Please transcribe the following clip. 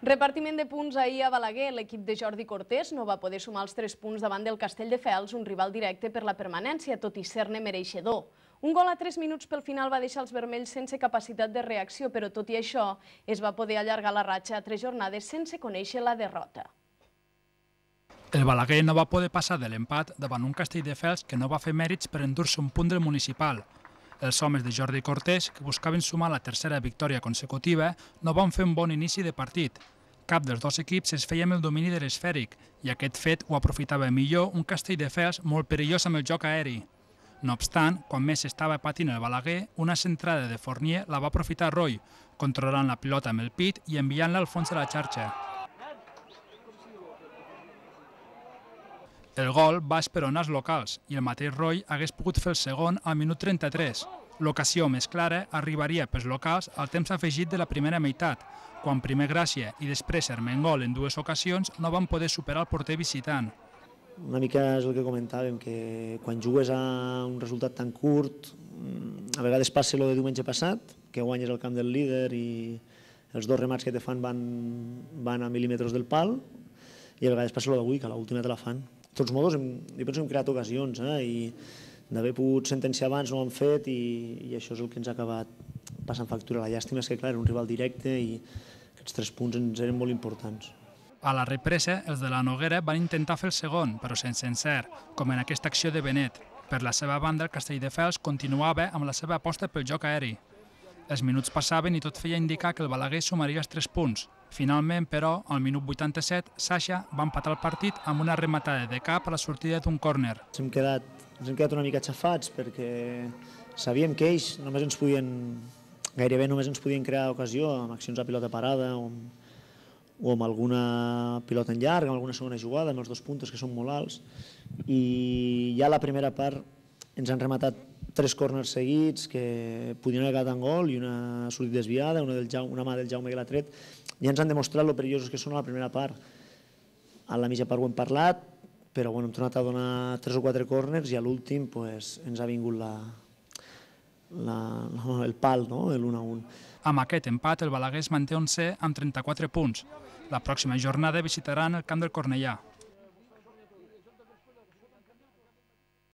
Repartiment de punts ahir a Balaguer. L'equip de Jordi Cortés no va poder sumar els 3 punts davant del Castelldefels, un rival directe per la permanència, tot i ser-ne mereixedor. Un gol a 3 minuts pel final va deixar els vermells sense capacitat de reacció, però tot i això es va poder allargar la ratxa a 3 jornades sense conèixer la derrota. El Balaguer no va poder passar de l'empat davant un Castelldefels que no va fer mèrits per endur-se un punt del municipal. Els homes de Jordi Cortés, que buscaven sumar la tercera victòria consecutiva, no van fer un bon inici de partit. Cap dels dos equips es feia amb el domini de l'esfèric i aquest fet ho aprofitava millor un Castelldefels molt perillós amb el joc aeri. No obstant, quan més estava patint el Balaguer, una centrada de Fournier la va aprofitar Roy, controlant la pilota amb el pit i enviant-la al fons de la xarxa. El gol va esperonar els locals i el mateix Roy hagués pogut fer el segon al minut 33. L'ocasió més clara arribaria pels locals al temps afegit de la primera meitat, quan primer Gràcia i després Ermengol en 2 ocasions no van poder superar el porter visitant. Una mica és el que comentàvem, que quan jugues a un resultat tan curt, a vegades passa el de diumenge passat, que guanyes el camp del líder i els 2 remats que te fan van a mil·límetres del pal, i a vegades passa el d'avui, que a l'última te la fan. De tots modos, jo penso que hem creat ocasions i d'haver pogut sentenciar abans no ho han fet i això és el que ens ha acabat passant factura. La llàstima és que, clar, era un rival directe i aquests 3 punts ens eren molt importants. A la represa, els de la Noguera van intentar fer el segon, però sense encert, com en aquesta acció de Benet. Per la seva banda, el Castelldefels continuava amb la seva aposta pel joc aeri. Els minuts passaven i tot feia indicar que el Balaguer sumaria els 3 punts. Finalment, però, al minut 87, Sasha va empatar el partit amb una rematada de cap a la sortida d'un córner. Ens hem quedat una mica xafats perquè sabíem que ells gairebé només ens podien crear ocasió amb accions a pilota parada o amb alguna pilota en llarg, amb alguna segona jugada, amb els 2 puntos que són molt alts. I ja a la primera part ens han rematat 3 córners seguits que podien haver quedat en gol i una sortida desviada, una mà del Jaume que l'ha tret. Ja ens han demostrat lo perillosos que són a la primera part. A la mitja part ho hem parlat, però hem tornat a donar 3 o 4 córners i a l'últim ens ha vingut el pal, l'1-1. Amb aquest empat, el Balaguer es manté 11è amb 34 punts. La pròxima jornada visitaran el camp del Cornellà.